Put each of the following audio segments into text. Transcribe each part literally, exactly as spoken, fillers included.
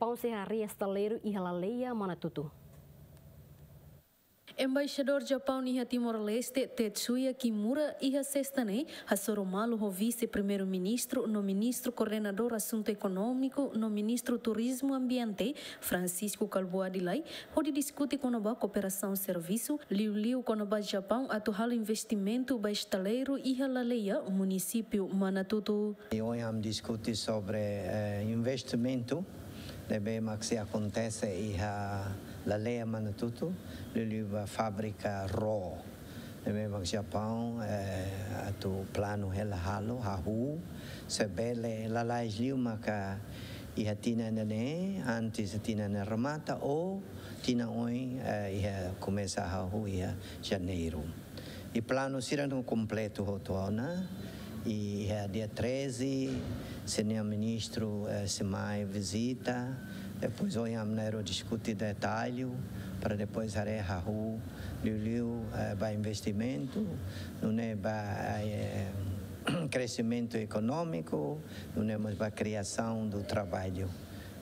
Japão sei harii estaleiru iha Laleia, Manatutu. Embaixadór Japaun iha Timor-Leste, Tetsuya Kimura, iha Sesta ne'e hasoru malu ho Vise-Primeiru-Ministru no Ministru Koordenadór Asuntu Ekonómiku no Ministru Turizmu Ambiente, Francisco Kalbuadi Lay, hodi diskute kona-ba kooperasaun servisu, liuliu kona-ba Japaun atu halo investimentu ba estaleiru iha Laleia, munisípiu Manatutu. I ohin ami diskute sobre, eh, investimentu ne'ebé mak sei akontese iha Laleia, Manatutu, liuliu ba fábrika ró ne'ebé mak Japaun, eh, atu planu hela halo, hahú, se bele lalais liu maka iha tinan ida-ne'e, antes tinan ne'e remata, ou tinan oin, eh, iha komesa hahú iha Janeiru. I planu sira-ne'e kompletu hotu ona. I iha dia treze, señór ministru, eh, sei mai vizita. Depois ohin ami na'in-rua diskute detallu, para depois haree hahú liuliu, eh, ba investimentu, nune'e ba, eh, kreximentu ekonómiku, nune'e mós ba kriasaun do traballu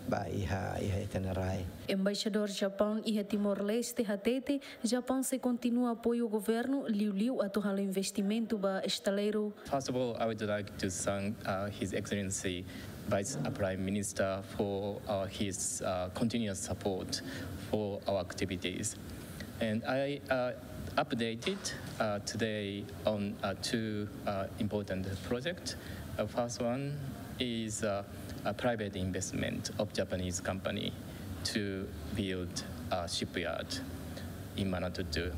ba iha, iha ita-nia rai. Embaixadór Japaun iha Timor-Leste hatete, Japaun sei kontinua apoiu governu, liuliu atu halo investimentu ba estaleiru. First of all, I would like to thank, uh, His Excellency Vice Prime Minister for, uh, his, uh, continuous support for our activities. And I, uh, updated, uh, today on, uh, two, uh, important projects. Uh, first one is, uh, a private investment of Japanese company to build a shipyard in Manatutu.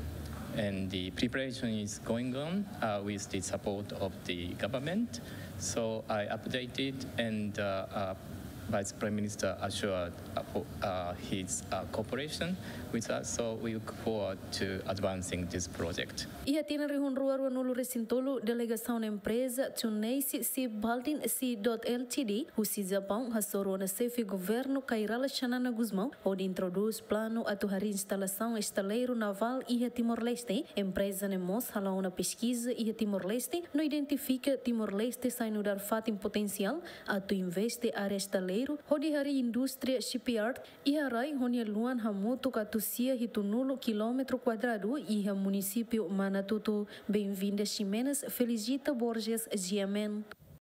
And the preparation is going on, uh, with the support of the government. So I updated and, uh, uh, Vice Prime Minister assured, uh, for, uh, his, uh, cooperation with us. So we look forward to advancing this project. Iha tinan rihun rua rua-nulu resin tolu, delegasaun empreza Tsuneisi Shipbuilding C dot L T D husi Japaun hasoru ona xefe governu Kay Rala Xanana Gusmão, hodi introdús planu atu harii instalasaun estaleiru navál iha Timor-Leste. Empreza ne'e mós hala'o ona peskiza iha Timor-Leste, no identifika Timor-Leste sai nu'udar fatin potensiál atu investe área estaleiru, hodi harii indústria shipyard, iha rai ho nia luan hamutuk atus sia hitunulu kilómetru kuadradu iha munisípiu Manatutu. Benvinda Ximenes, Felicita Borges, G M N.